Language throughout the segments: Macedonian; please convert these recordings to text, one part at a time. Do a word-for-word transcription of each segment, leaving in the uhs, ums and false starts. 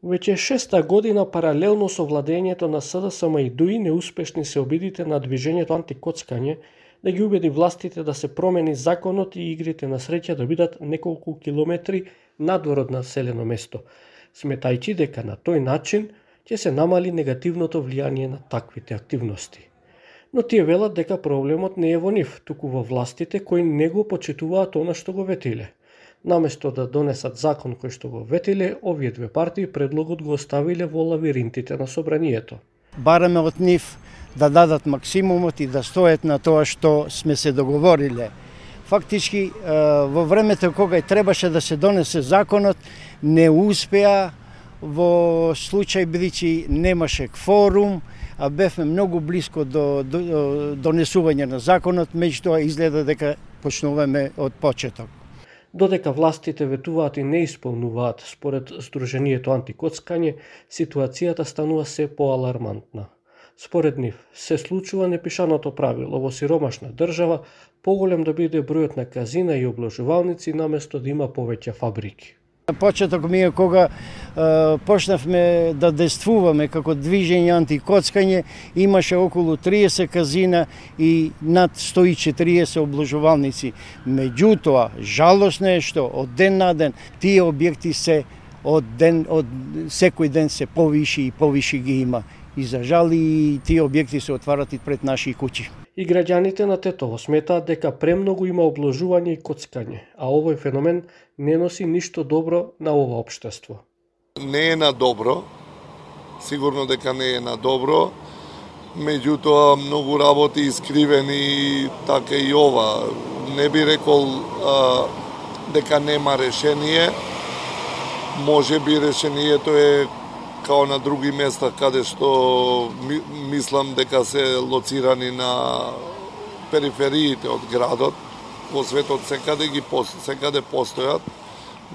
Веќе шеста година паралелно со владењето на СДСМ и ДУИ неуспешни се обидите на движењето антикоцкање да ги убеди властите да се промени законот и игрите на среќа да бидат неколку километри надвор од населено место, сметајќи дека на тој начин ќе се намали негативното влијание на таквите активности. Но тие велат дека проблемот не е во нив, туку во властите кои не го почитуваат она што го ветиле. Наместо да донесат закон кој што го ветиле, овие две партии предлогот го оставиле во лавиринтите на собранието. Бараме од нив да дадат максимумот и да стоят на тоа што сме се договориле. Фактички, во времето кога требаше да се донесе законот, не успеа, во случај бидејќи немаше кворум, а бевме многу близко до, до, до донесување на законот, меѓутоа изгледа дека почнуваме од почеток. Додека властите ветуваат и не исполнуваат според Сдруженијето антикоцкање, ситуацијата станува се поалармантна. Според нив, се случува непишаното правило во сиромашна држава поголем да биде бројот на казина и обложувалници наместо да има повеќе фабрики. На почеток ми е кога е, почнавме да действуваме како движење антикоцкање, имаше околу триесет казина и над сто и четириесет обложувалници. Меѓутоа, жалосно е што од ден на ден тие објекти се од ден од секој ден се повиши и повиши ги има. И за жал и тие објекти се отварат и пред наши куќи. И граѓаните на Тетово сметаат дека премногу има обложување и коцкање, а овој феномен не носи ништо добро на ова општество. Не е на добро, сигурно дека не е на добро, меѓутоа многу работи искривени, така и ова. Не би рекол а, дека нема решение, може би решението е као на други места каде што ми, мислам дека се лоцирани на перифериите од градот, во светот секаде ги секаде постојат,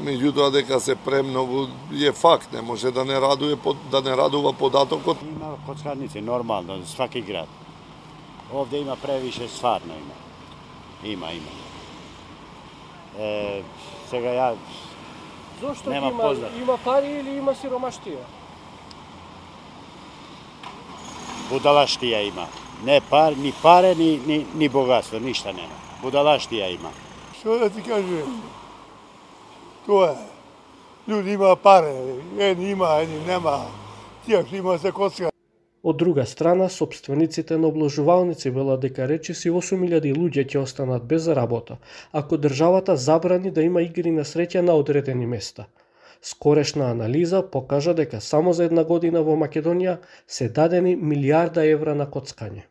меѓутоа дека се премногу е факт, не може да не радува да не радува податокот. Има коцкарници нормално за сваки град. Овде има превише, стварно има. Има, има. Е, сега ја Зошто нема има, познат. има пари или има сиромаштија? Будалаштија има. Не пар, ни паре, ни, ни, ни богатство, ништа нема. Будалаштија има. Што да ти кажу? Тоа е. Луѓе има паре, едни има, едни нема. Тие што има се коцка. Од друга страна, сопствениците на обложувалници велат дека речиси осум илјади луѓе ќе останат без работа, ако државата забрани да има игри на среќа на одредени места. Скорешна анализа покажа дека само за една година во Македонија се дадени милијарда евра на коцкање.